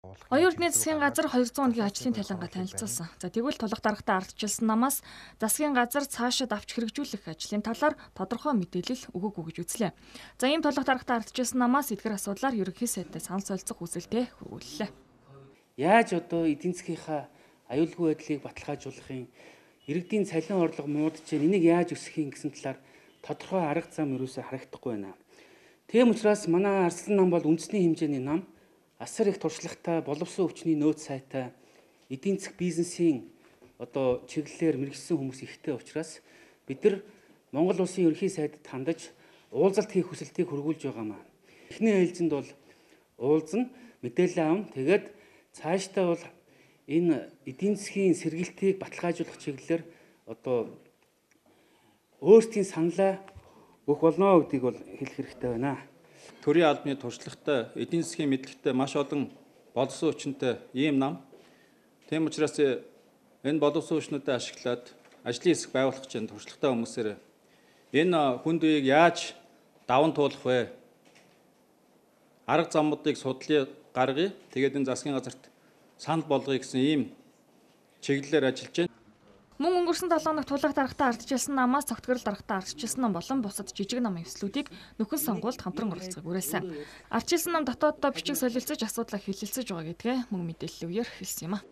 Оюутны засгийн газар 200 хоногийн ажлын талангаа танилцуулсан. За тэгвэл тулах даргатай ардчилсан намаас засгийн газар цаашид авч хэрэгжүүлэх ажлын талаар тодорхой мэдээлэл өгөөгүй гэж үзлээ. За ийм тулах даргатай ардчилсан намаас эдгээр асуудлаар ерөнхий сайдтай санал солилцох хүсэлтэд хүргүүллээ. Яаж одоо эдийн засгийнхаа аюулгүй байдлыг баталгаажуулахын, иргэдийн цалин орлого муудаж, энийг яаж өсгөхийн гэсэн талаар тодорхой арга зам ерөөсөө харагдахгүй байна. Тийм учраас манай Арслан нам бол үндэсний хэмжээний нам, асар их туршлагатай, боловсон өвчний нөөц сайтай, эдийн засаг бизнесийн одоо чиглэлээр мэргэжсэн хүмүүс ихтэй учраас бид нар Монгол улсын ерөнхий сайдд хандаж уулзалт хийх хүсэлтийг хөргүүлж байгаамаа. Эхний ээлжинд бол уулзна, мэдээлэл авна. Тэгээд цаашдаа бол энэ эдийн засгийн сэргээлтийг баталгаажуулах чиглэлээр одоо өөрсдийн саналаа өгөх болно гэдгийг бол хэлэх хэрэгтэй байна. Төрийн албаны туршлагатай, эдийн засгийн мэдлэгтэй маш олон боловсон хүчинтэй ийм нам. Тийм учраас энэ боловсон хүчнүүдэд ашиглаад ажлын хэсэг байгуулах гэж туршлагатай хүмүүсээр энэ хүнд үеийг яаж даван туулах вэ? Арга замуудыг судлаа гаргая. Тэгээд энэ засгийн газарт санал болгоё гэсэн ийм чиглэлээр ажиллаж байна. Мөн өнгөрсөн 7 хоногт тулах даргатай ардчилсан намаас цогтгорол даргатай ардчилсан нам болон бусад жижиг намын эвслүүдийг нөхөн сонгуульд хамтран оролцохыг уриалсан. Ардчилсан нам дотооддоо бичиг солилцож асуудлаа хэлэлцэж байгаа гэдгээ мөн мэдээлэл өгөөр хэлсэн юм а.